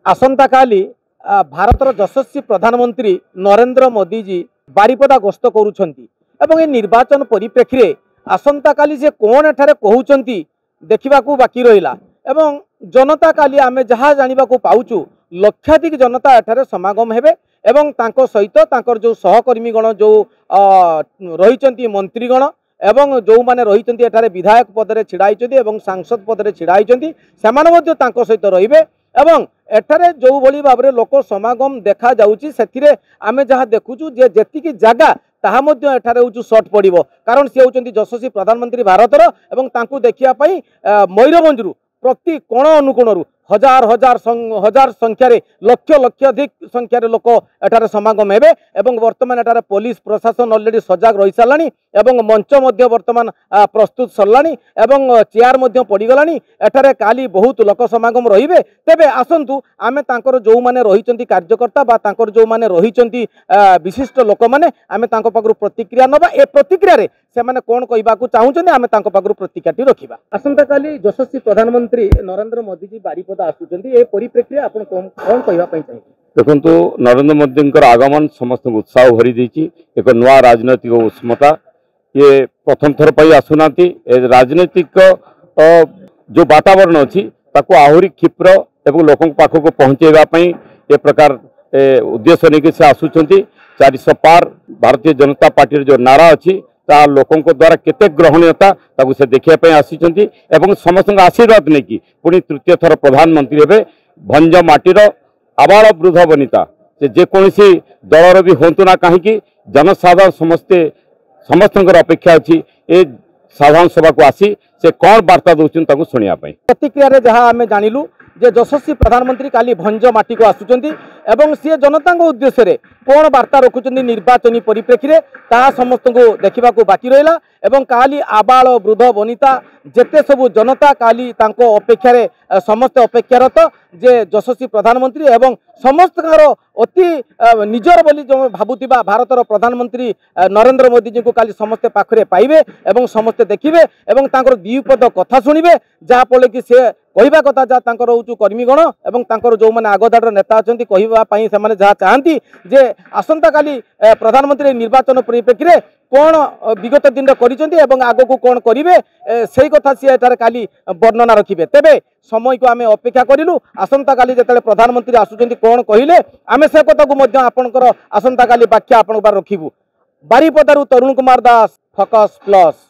ଆସନ୍ତାକାଲି ଭାରତର ଯଶସ୍ୱୀ ପ୍ରଧାନମନ୍ତ୍ରୀ ନରେନ୍ଦ୍ର ମୋଦିଜୀ ବାରିପଦା ଗସ୍ତ କରୁଛନ୍ତି ଏବଂ ଏ ନିର୍ବାଚନ ପରିପ୍ରେକ୍ଷୀରେ ଆସନ୍ତାକାଲି ସେ କ'ଣ ଏଠାରେ କହୁଛନ୍ତି ଦେଖିବାକୁ ବାକି ରହିଲା। ଏବଂ ଜନତା କାଲି ଆମେ ଯାହା ଜାଣିବାକୁ ପାଉଛୁ, ଲକ୍ଷାଧିକ ଜନତା ଏଠାରେ ସମାଗମ ହେବେ ଏବଂ ତାଙ୍କ ସହିତ ତାଙ୍କର ଯେଉଁ ସହକର୍ମୀଗଣ ଯେଉଁ ରହିଛନ୍ତି, ମନ୍ତ୍ରୀଗଣ ଏବଂ ଯେଉଁମାନେ ରହିଛନ୍ତି ଏଠାରେ ବିଧାୟକ ପଦରେ ଛିଡ଼ା ହେଇଛନ୍ତି ଏବଂ ସାଂସଦ ପଦରେ ଛିଡ଼ା ହେଇଛନ୍ତି, ସେମାନେ ମଧ୍ୟ ତାଙ୍କ ସହିତ ରହିବେ। ଏବଂ ଏଠାରେ ଯେଉଁଭଳି ଭାବରେ ଲୋକ ସମାଗମ ଦେଖାଯାଉଛି, ସେଥିରେ ଆମେ ଯାହା ଦେଖୁଛୁ ଯେ ଯେତିକି ଜାଗା ତାହା ମଧ୍ୟ ଏଠାରେ ହେଉଛି ସର୍ଟ ପଡ଼ିବ, କାରଣ ସେ ହେଉଛନ୍ତି ଯଶସ୍ୱୀ ପ୍ରଧାନମନ୍ତ୍ରୀ ଭାରତର ଏବଂ ତାଙ୍କୁ ଦେଖିବା ପାଇଁ ମୟୂରଭଞ୍ଜରୁ ପ୍ରତି କୋଣ ଅନୁକୋଣରୁ ହଜାର ହଜାର ହଜାର ସଂଖ୍ୟାରେ, ଲକ୍ଷ ଲକ୍ଷାଧିକ ସଂଖ୍ୟାରେ ଲୋକ ଏଠାରେ ସମାଗମ ହେବେ। ଏବଂ ବର୍ତ୍ତମାନ ଏଠାରେ ପୋଲିସ ପ୍ରଶାସନ ଅଲରେଡ଼ି ସଜାଗ ରହିସାରିଲାଣି ଏବଂ ମଞ୍ଚ ମଧ୍ୟ ବର୍ତ୍ତମାନ ପ୍ରସ୍ତୁତ ସରିଲାଣି ଏବଂ ଚେୟାର ମଧ୍ୟ ପଡ଼ିଗଲାଣି। ଏଠାରେ କାଲି ବହୁତ ଲୋକ ସମାଗମ ରହିବେ। ତେବେ ଆସନ୍ତୁ ଆମେ ତାଙ୍କର ଯେଉଁମାନେ ରହିଛନ୍ତି କାର୍ଯ୍ୟକର୍ତ୍ତା ବା ତାଙ୍କର ଯେଉଁମାନେ ରହିଛନ୍ତି ବିଶିଷ୍ଟ ଲୋକମାନେ, ଆମେ ତାଙ୍କ ପାଖରୁ ପ୍ରତିକ୍ରିୟା ନେବା। ଏ ପ୍ରତିକ୍ରିୟାରେ ସେମାନେ କ'ଣ କହିବାକୁ ଚାହୁଁଛନ୍ତି, ଆମେ ତାଙ୍କ ପାଖରୁ ପ୍ରତିକ୍ରିୟାଟି ରଖିବା। ଆସନ୍ତାକାଲି ଯଶସ୍ୱୀ ପ୍ରଧାନମନ୍ତ୍ରୀ ନରେନ୍ଦ୍ର ମୋଦିଜୀ ବାରିପଦା ଆସୁଛନ୍ତି, ଏ ପରିପ୍ରେକ୍ଷୀରେ ଆପଣ କ'ଣ କହିବା ପାଇଁ ଚାହିଁବେ? ଦେଖନ୍ତୁ, ନରେନ୍ଦ୍ର ମୋଦିଙ୍କର ଆଗମନ ସମସ୍ତଙ୍କୁ ଉତ୍ସାହ ଭରି ଦେଇଛି, ଏକ ନୂଆ ରାଜନୈତିକ ଉଷ୍ମତା। ଇଏ ପ୍ରଥମ ଥର ପାଇଁ ଆସୁନାହାନ୍ତି। ଏ ରାଜନୈତିକ ଯେଉଁ ବାତାବରଣ ଅଛି ତାକୁ ଆହୁରି କ୍ଷିପ୍ର ଏବଂ ଲୋକଙ୍କ ପାଖକୁ ପହଞ୍ଚାଇବା ପାଇଁ ଏ ପ୍ରକାର ଉଦ୍ଦେଶ୍ୟ ନେଇକି ସେ ଆସୁଛନ୍ତି। 400 ପାର ଭାରତୀୟ ଜନତା ପାର୍ଟିର ଯେଉଁ ନାରା ଅଛି ତାହା ଲୋକଙ୍କ ଦ୍ୱାରା କେତେ ଗ୍ରହଣୀୟତା ତାକୁ ସେ ଦେଖିବା ପାଇଁ ଆସିଛନ୍ତି ଏବଂ ସମସ୍ତଙ୍କ ଆଶୀର୍ବାଦ ନେଇକି ପୁଣି ତୃତୀୟ ଥର ପ୍ରଧାନମନ୍ତ୍ରୀ ହେବେ। ଭଞ୍ଜ ମାଟିର ଆବାଳ ବୃଦ୍ଧ ବନିତା, ସେ ଯେକୌଣସି ଦଳର ବି ହୁଅନ୍ତୁ ନା କାହିଁକି, ଜନସାଧାରଣ ସମସ୍ତେ ସମସ୍ତଙ୍କର ଅପେକ୍ଷା ଅଛି ଏ ସାଧାରଣ ସଭାକୁ ଆସି ସେ କ'ଣ ବାର୍ତ୍ତା ଦେଉଛନ୍ତି ତାକୁ ଶୁଣିବା ପାଇଁ। ପ୍ରତିକ୍ରିୟାରେ ଯାହା ଆମେ ଜାଣିଲୁ ଯେ ଯଶସ୍ୱୀ ପ୍ରଧାନମନ୍ତ୍ରୀ କାଲି ଭଞ୍ଜ ମାଟିକୁ ଆସୁଛନ୍ତି ଏବଂ ସିଏ ଜନତାଙ୍କ ଉଦ୍ଦେଶ୍ୟରେ କ'ଣ ବାର୍ତ୍ତା ରଖୁଛନ୍ତି ନିର୍ବାଚନୀ ପରିପ୍ରେକ୍ଷୀରେ ତାହା ସମସ୍ତଙ୍କୁ ଦେଖିବାକୁ ବାକି ରହିଲା। ଏବଂ କାଲି ଆବାଳ ବୃଦ୍ଧ ବନିତା ଯେତେ ସବୁ ଜନତା କାଲି ତାଙ୍କ ଅପେକ୍ଷାରେ ସମସ୍ତେ ଅପେକ୍ଷାରତ ଯେ ଯଶସ୍ୱୀ ପ୍ରଧାନମନ୍ତ୍ରୀ ଏବଂ ସମସ୍ତଙ୍କର ଅତି ନିଜର ବୋଲି ଯେଉଁ ଭାବୁଥିବା ଭାରତର ପ୍ରଧାନମନ୍ତ୍ରୀ ନରେନ୍ଦ୍ର ମୋଦିଜୀଙ୍କୁ କାଲି ସମସ୍ତେ ପାଖରେ ପାଇବେ ଏବଂ ସମସ୍ତେ ଦେଖିବେ ଏବଂ ତାଙ୍କର ଦୁଇ ପଦ କଥା ଶୁଣିବେ, ଯାହାଫଳରେ କି ସେ କହିବା କଥା ଯାହା ତାଙ୍କର ହେଉଛି କର୍ମୀଗଣ ଏବଂ ତାଙ୍କର ଯେଉଁମାନେ ଆଗଧାଡ଼ିର ନେତା ଅଛନ୍ତି କହିବା ପାଇଁ ସେମାନେ ଯାହା ଚାହାନ୍ତି ଯେ ଆସନ୍ତାକାଲି ପ୍ରଧାନମନ୍ତ୍ରୀ ନିର୍ବାଚନ ପରିପ୍ରେକ୍ଷୀରେ କ'ଣ ବିଗତ ଦିନରେ କରିଛନ୍ତି ଏବଂ ଆଗକୁ କ'ଣ କରିବେ, ସେଇ କଥା ସିଏ ଏଠାରେ କାଲି ବର୍ଣ୍ଣନା ରଖିବେ। ତେବେ ସମୟକୁ ଆମେ ଅପେକ୍ଷା କରିଲୁ, ଆସନ୍ତାକାଲି ଯେତେବେଳେ ପ୍ରଧାନମନ୍ତ୍ରୀ ଆସୁଛନ୍ତି କ'ଣ କହିଲେ ଆମେ ସେ କଥାକୁ ମଧ୍ୟ ଆପଣଙ୍କର ଆସନ୍ତାକାଲି ବ୍ୟାଖ୍ୟା ଆପଣଙ୍କ ପାଖରେ ରଖିବୁ। ବାରିପଦାରୁ ତରୁଣ କୁମାର ଦାସ, ଫୋକସ୍ ପ୍ଲସ୍।